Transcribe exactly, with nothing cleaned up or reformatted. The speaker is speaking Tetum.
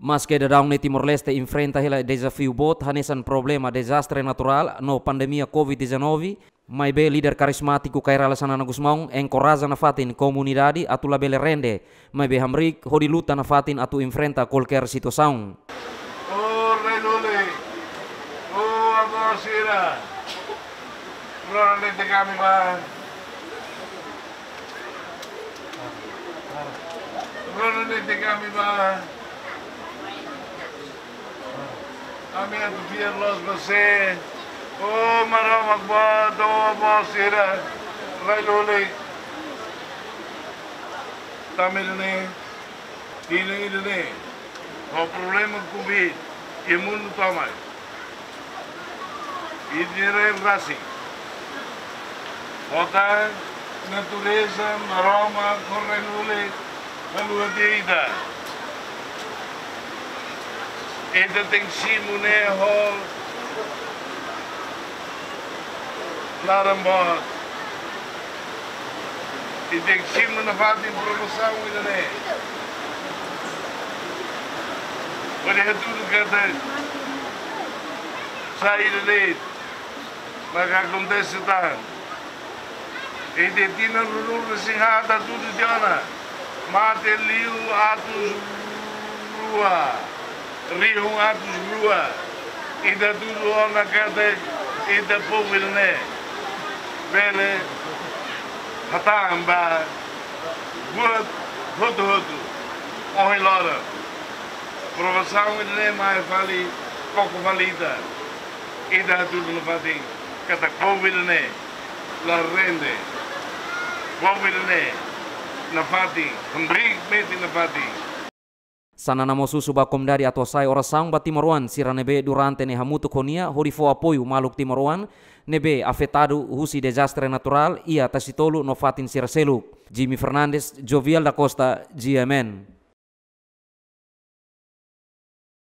Maske daudaun ne'e Timor-Leste enfrenta hela dezafiu boot hanesan problema dezastre naturál no pandemia covid dezanove, maibé líder karizmátiku Kay Rala Xanana Gusmão enkoraja nafatin komunidade atu labele rende, maibé hamriik hodi luta nafatin atu enfrenta kualkér situasaun. O rai Luli, o avó sira, rona netik ami bá. Rona netik ami bá. Ami atu fiar loos ba sé. O Maromak, ba, o avó sira, rai Luli. Tanba ne'e, tinan ida-ne'e, ho problema covid iha mundu tomak, ita-nia rai rasik, ho tan natureza, Maromak ho rai Luli haluha tiha ita. Ita tenke simu ne'e ho laran boot. Ita tenke simu nafatin provasaun ida-ne'e. Hodi hatudu katak saida de'it maka akontese tan. Ita tinan ruanulu-resin-haat hatudu tiha ona, mate liu atus rua, rihun atus rua. Ita hatudu ona katak ita povu ida-ne'e bele hatán ba buat hotu-hotu ohin loron. Provasaun ida-ne'e mai fali, koko fali ita. Ita hatudu nafatin katak povu ida-ne'e la rende. Povu ida-ne'e nafatin, hamriik metin nafatin. Xanana mós husu ba komunidade atu hasa'e orasaun ba timoroan sira ne'ebé durante ne'e hamutuk ho nia hodi fó apoiu maluk timoroan ne'ebé afetadu husi dezastre naturál iha Tasitolu no fatin sira seluk. Jimmy Fernandes, Jovial da Costa, G M N.